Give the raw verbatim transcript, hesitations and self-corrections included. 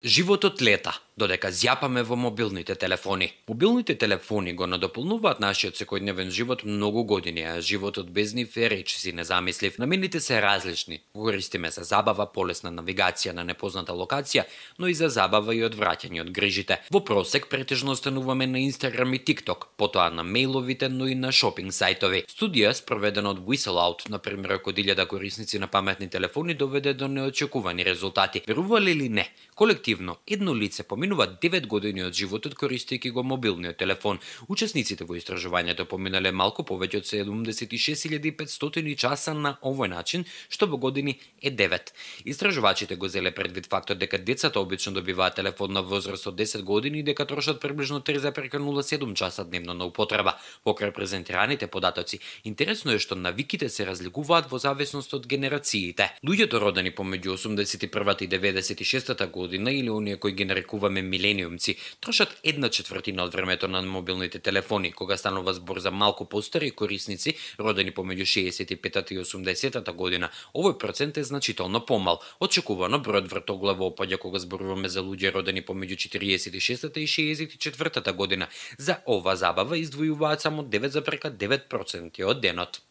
Животот лета, додека зјапаме во мобилните телефони. Мобилните телефони го надополнуваат нашиот секојдневен живот многу години, а животот без нив е речиси незамислив. Намените се различни. Користиме за забава, полесна навигација на непозната локација, но и за забава и одвраќање од грижите. Во просек претежно остануваме на Инстаграм и TikTok, потоа на мејловите, но и на шопинг сајтови. Студија спроведена од Whistleout, на пример од илјада корисници на паметни телефони, доведе до неочекувани резултати. Верувале или не, колективно едно лице поминува девет години од животот користејќи го мобилниот телефон. Учесниците во истражувањето поминале малку повеќе од седумдесет и шест илјади и петстотини часа на овој начин, што во години е девет. Истражувачите го зеле предвид фактот дека децата обично добиваат телефон на возраст од десет години и дека трошат приближно три зарез нула седум часа дневно на употреба. Покрај презентираните податоци, интересно е што навиките се разликуваат во зависност од генерациите. Луѓето родени помеѓу осумдесет и првата и деветдесет и шестата година или оние кои ги нарекуваме милениумци, трошат една четвртина од времето на мобилните телефони. Кога станува збор за малку постари корисници, родени помеѓу шеесет и петата и осумдесетата година, овој процент е значително помал. Очекувано бројот вртоглаво опаѓа кога зборуваме за луѓе родени помеѓу четириесет и шестата и шеесет и четвртата година. За ова забава издвојуваат само девет зарез девет проценти од денот.